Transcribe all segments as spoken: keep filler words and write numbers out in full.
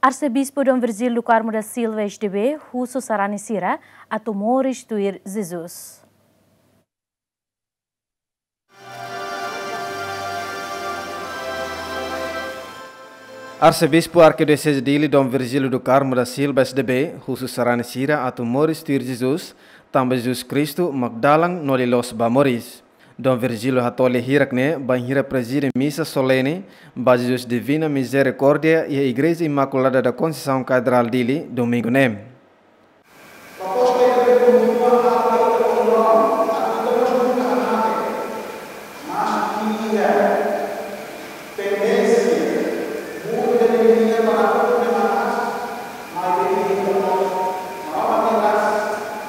Arsebispu Dom Virgílio do Carmo da Silva, S D B, husu sarani sira atu moris tuir Jesus. Arsebispu Arkidioseze Dili Dom Virgílio do Carmo da Silva, S D B, husu sarani sira atu moris tuir Jesus, tanba Jesus Kristu mak dalan no loloos ba moris. Dom Virgílio hato'o lia hirak ne'e bainhira prezide misa solene ba Jesus Divina Misericórdia iha Igreja Imaculada da Conceição Catedral Dili, domingu ne'e. Proposta ida-ne'e kontinua halo ita-nia orasaun, atu ita mós nunka hamate. Mas iha tendénsia, muda de energia para tudo de manas, mas de energia para nós, Maromak nia graça,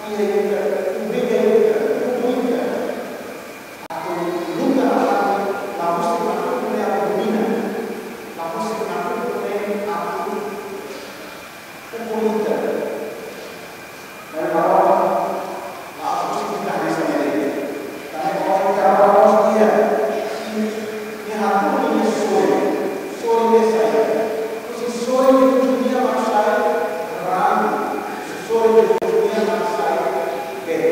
iha ita, obriga ita, tudu ita. Atu luta atu la husik nakukun ne'e atu domina, la husik nakukun ne'e atu ukun ita. Maibé Maromak la husik ita hanesan ne'e de'it. Tanba Maromak nia karau mós iha, i, nia hatudu nia sorin, sorin ne'e sai. Husi sorin Jesus nian mak sai raan, husi sorin Jesus nian mak sai bee.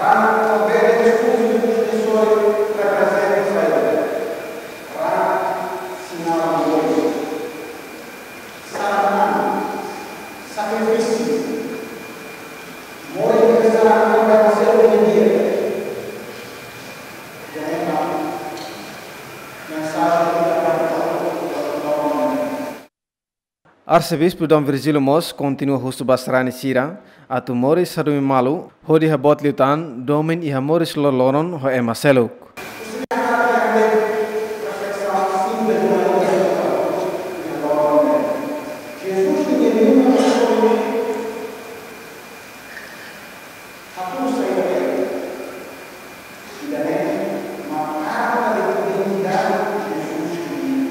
Raan no bee ne'e Jesus nia sorin reprezenta saida? Raan sinál moris. Saran an, sakrifísiu. Moris ne'e saran an ba seluk nia di'ak. Jadi, mensajen ida ba ita hotu. Arsebispu Dom Virgílio mós kontinua husu ba sarani sira atu moris hadomi malu, hodi haboot liután domin iha moris loroloron ho ema seluk. Jesus nia liman sorin ne'e hatudu saida de'it? Ida-ne'e mak karta de identidade de Jesus nian.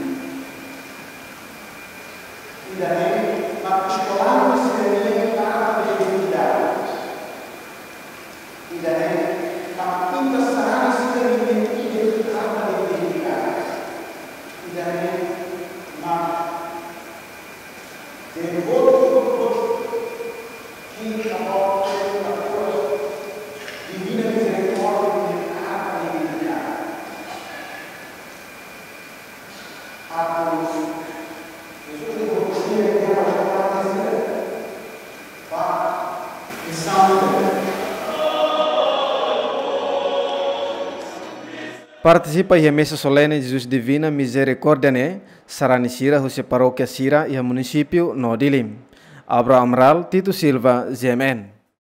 Ida-ne'e mak eskolante sira-nia karta de identidade. Ida-ne'e mak ita sarani sira-nia ide karta de identidade. Ida-ne'e mak devotu, devotu, que a volta da cura divina misericórdia de cada dignidade. Atos, Jesus de Rosia, que é uma escola de ser, vá, e santa. Partisipa iha misa solene Jesus Divina Misericórdia ne'e sarani sira husi parókia sira iha munisípiu no Dili. Abraham Amaral, Tito Silva, G M N.